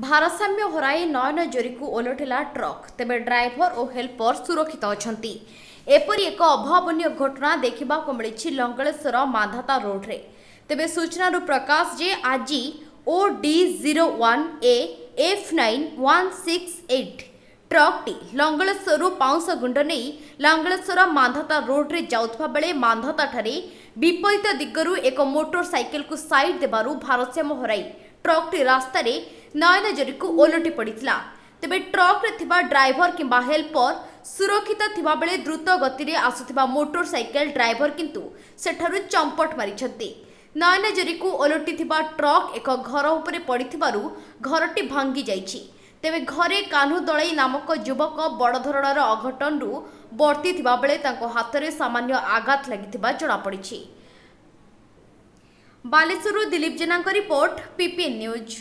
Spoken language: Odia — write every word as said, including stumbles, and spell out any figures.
ଭାରସାମ୍ୟ ହରାଇ ନୟନଜୋରିକୁ ଓଲଟିଲା ଟ୍ରକ୍। ତେବେ ଡ୍ରାଇଭର ଓ ହେଲ୍ପର ସୁରକ୍ଷିତ ଅଛନ୍ତି। ଏପରି ଏକ ଅଭାବନୀୟ ଘଟଣା ଦେଖିବାକୁ ମିଳିଛି ଲଙ୍ଗଳେଶ୍ୱର ମାନ୍ଧାତା ରୋଡରେ। ତେବେ ସୂଚନାରୁ ପ୍ରକାଶ ଯେ ଆଜି ଓ D zero one A F nine one six eight ଟ୍ରକ୍ଟି ଲଙ୍ଗଳେଶ୍ୱରରୁ ପାଉଁଶ ଗୁଣ୍ଡ ନେଇ ଲଙ୍ଗଳେଶ୍ୱର ମାନ୍ଧାତା ରୋଡରେ ଯାଉଥିବା ବେଳେ ମାନ୍ଧାତାଠାରେ ବିପରୀତ ଦିଗରୁ ଏକ ମୋଟର ସାଇକେଲକୁ ସାଇଡ୍ ଦେବାରୁ ଭାରସାମ୍ୟ ହରାଇ ଟ୍ରକ୍ଟି ରାସ୍ତାରେ ନୟନଜୋରିକୁ ଓଲଟି ପଡ଼ିଥିଲା। ତେବେ ଟ୍ରକ୍ରେ ଥିବା ଡ୍ରାଇଭର କିମ୍ବା ହେଲ୍ପର ସୁରକ୍ଷିତ ଥିବାବେଳେ ଦ୍ରୁତ ଗତିରେ ଆସୁଥିବା ମୋଟର ସାଇକେଲ ଡ୍ରାଇଭର କିନ୍ତୁ ସେଠାରୁ ଚମ୍ପଟ ମାରିଛନ୍ତି। ନୟନଜୋରିକୁ ଓଲଟିଥିବା ଟ୍ରକ୍ ଏକ ଘର ଉପରେ ପଡ଼ିଥିବାରୁ ଘରଟି ଭାଙ୍ଗି ଯାଇଛି। ତେବେ ଘରେ କାହ୍ନୁ ଦଳେଇ ନାମକ ଯୁବକ ବଡ଼ ଧରଣର ଅଘଟଣରୁ ବର୍ତ୍ତିଥିବା ବେଳେ ତାଙ୍କ ହାତରେ ସାମାନ୍ୟ ଆଘାତ ଲାଗିଥିବା ଜଣାପଡ଼ିଛି। ବାଲେଶ୍ୱରରୁ ଦିଲୀପ ଜେନାଙ୍କ ରିପୋର୍ଟ, ପିପିଏନ୍ ନ୍ୟୁଜ୍।